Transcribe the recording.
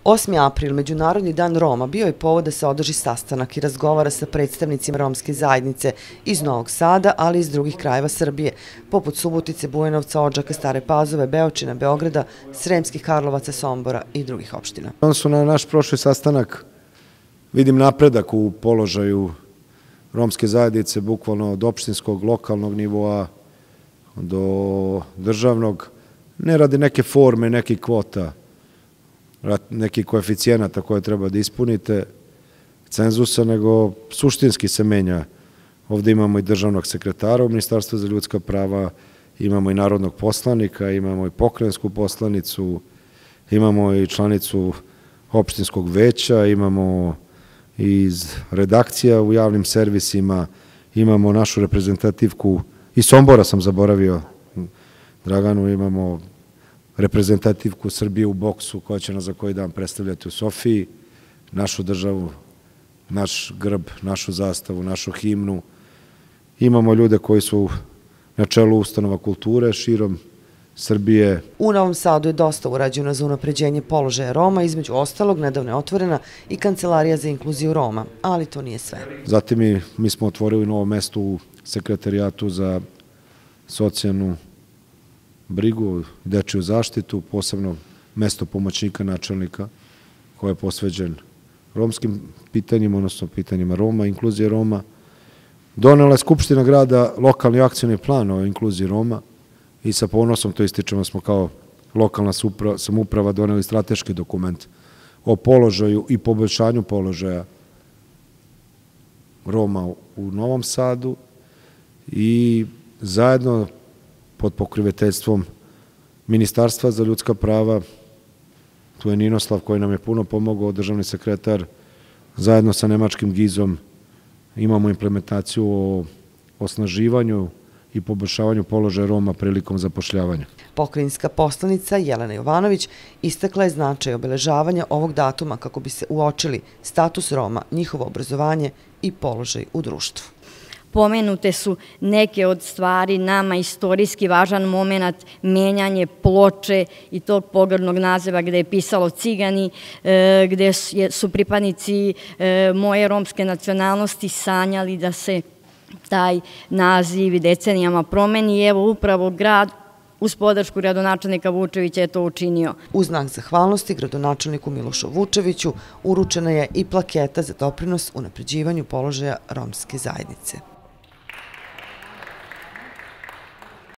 8. april, Međunarodni dan Roma, bio je povod da se održi sastanak i razgovara sa predstavnicima romske zajednice iz Novog Sada, ali i iz drugih krajeva Srbije, poput Subotice, Bujanovca, Odžaka, Stare Pazove, Beočina, Beograda, Sremskih Karlovaca, Sombora i drugih opština. Odnosno na naš prošli sastanak vidim napredak u položaju romske zajednice, bukvalno od opštinskog, lokalnog nivoa do državnog, ne radi neke forme, nekih kvota, nekih koeficijenata koje treba da ispunite, cenzusa, nego suštinski se menja. Ovde imamo i državnog sekretara u Ministarstvu za ljudska prava, imamo i narodnog poslanika, imamo i pokrajinsku poslanicu, imamo i članicu opštinskog veća, imamo iz redakcija u javnim servisima, imamo našu reprezentativku, i Sombora sam zaboravio, Draganu, imamo reprezentativku Srbije u boksu koja će nas za koji dan predstavljati u Sofiji, našu državu, naš grb, našu zastavu, našu himnu. Imamo ljude koji su na čelu ustanova kulture širom Srbije. U Novom Sadu je dosta urađeno za unapređenje položaja Roma, između ostalog nedavno je otvorena i Kancelarija za inkluziju Roma, ali to nije sve. Zatim mi smo otvorili novo mesto u Sekretarijatu za socijalnu brigu, dečiju zaštitu, posebno mesto pomoćnika načelnika koje je posveđen romskim pitanjima, odnosno pitanjima Roma, inkluzije Roma. Donela je Skupština grada lokalni akcioni plan o inkluziji Roma i sa ponosom to ističemo, smo kao lokalna samouprava doneli strateški dokument o položaju i poboljšanju položaja Roma u Novom Sadu i zajedno pod pokroviteljstvom Ministarstva za ljudska prava, tu je Ninoslav koji nam je puno pomogao, državni sekretar, zajedno sa nemačkim gizom imamo implementaciju o osnaživanju i poboljšavanju položaja Roma prilikom zapošljavanja. Pokrajinska poslanica Jelena Jovanović istakla je značaj obeležavanja ovog datuma kako bi se uočili status Roma, njihovo obrazovanje i položaj u društvu. Pomenute su neke od stvari, nama istorijski važan moment, menjanje ploče i tog pogrdnog naziva gde je pisalo Cigani, gde su pripadnici moje romske nacionalnosti sanjali da se taj naziv decenijama promeni i evo upravo grad uz podršku gradonačelnika Vučevića je to učinio. U znak zahvalnosti gradonačelniku Milošu Vučeviću uručena je i plaketa za doprinos unapređivanju položaja romske zajednice.